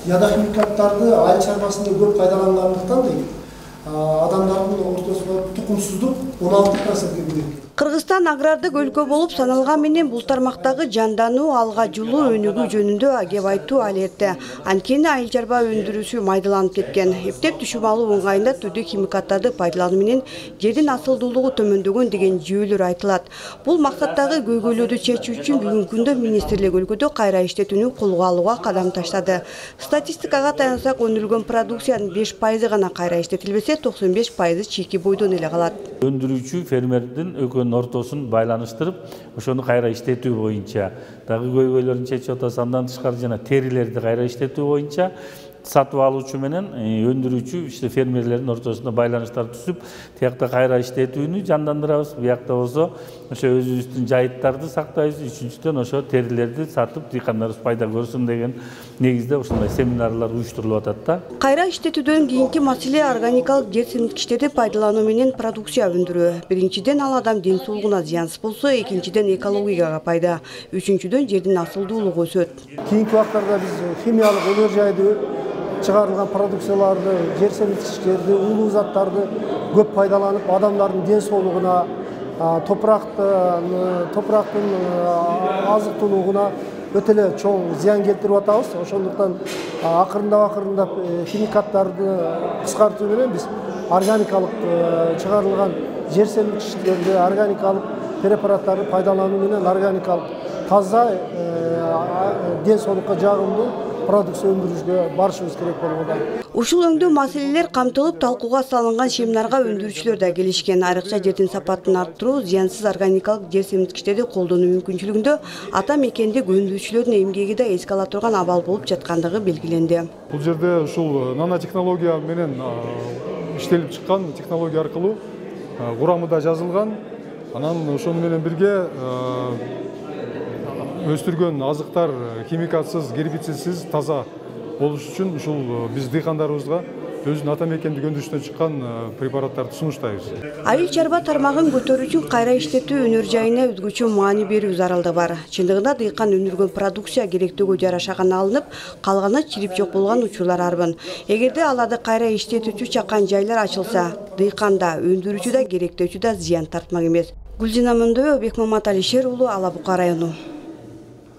Ядохимикаттарды айыл чарбасында көп пайдалангандыктан адамдардын ортосунда тукумсуздук 16%-ге көбөйдү. Кыргызстан агрардык өлкө болуп саналган менен бул тармактагы жандануу, алга жылуу өнүгүү жөнүндө кеп айтуу ал эрте. Анткени айыл чарба өндүрүүсү майдаланып кеткен. Эптеп түшүм алуу ыңгайында түрдүү химикаттарды пайдалануу менен жердин асылдуулугу төмөндөгөн деген жүйөлөр айтылат. Бул максаттагы көйгөйлөрдү чечүү үчүн бүгүнкү күндө министрлик өлкөдө кайра иштетүүнү колго алууга кадам таштады. Статистикага таянсак, өндүрүлгөн продукциянын 5% гана кайра иштетилбесе, 95% чийки бойдон эле калат. Өндүрүүчү фермердин ортосун байланыштырып, ошону кайра иштетүү боюнча дагы көйгөйлөрүн чечип атабыз. Андан тышкары жана терилерди кайра иштетүү боюнча сатып алуучу менен өндүрүүчү фермерлердин ортосунда байланыштар түзүп, тиякта кайра иштетүүнү жандандырабыз. Биякта болсо ошо өзүбүздүн жайыттарды сактайбыз. Үчүнчүдөн ошо терилерди сатып дыйкандарыбыз пайда көрсүн деген негизде ушундай семинарлар уюштурулуп атат да. Кайра иштетүүдөн кийинки маселе органикалык жер семирткичтерди пайдалануу менен продукция өндүрүү. Биринчиден ал адам ден соолугуна зыянсыз болсо, экинчиден экологияга пайда, үчүнчүдөн жердин асылдуулугу өсөт. Кийинки убактарда биз химиялык өнөр жайды чыгарылган продукцияларды, жер семирткичтерди, улуу заттарды көп пайдаланып, адамдардын ден соолугуна, топурактын азыктуулугуна өтө эле чоң зыян келтирип атабыз. Ошондуктан акырындап химикаттарды кыскартуу менен биз органикалык чыгарылган жер семирткичтерди, органикалык препараттарды пайдалануу менен органикалык таза ден соолукка жагымдуу продукция өндүрүүгө барышыбыз керек болууда. Ушул өңдүү маселелер камтылып, талкууга салынган семинарга өндүрүүчүлөр да келишкен. Айрыкча жердин сапатын арттыруу, зыянсыз органикалык жер семирткичтерди колдонуу мүмкүнчүлүгүндө ата мекендик өндүрүүчүлөрдүн эмгеги да эске ала турган абал болуп жаткандыгы белгиленди. Бул жерде ушул нанотехнология менен иштелип чыккан технология аркылуу курамы да жазылган. Анан ошону менен бирге өстүргөн азыктар химикатсыз, гербицидсиз, таза болуш үчүн ушул биз дыйкандарыбызга өзүнүн ата мекендик өндүрүштөн чыккан препараттарды сунуштайбыз. Айыл чарба тармагын көтөрүү үчүн кайра иштетүү өнөр жайына өзгөчө маани берүү зарылдыгы бар. Чындыгында дыйкан өндүргөн продукция керектөөгө жараша гана алынып, калганы чирип жок болгон учурлар арбын. Эгерде аларды кайра иштетүүчү чакан жайлар ачылса, дыйкан да, өндүрүүчү да, керектөөчү да зыян тартмак эмес. Гүлзина Мөндөбекова, Бекмамат Алишер уулу, Ала Бука району.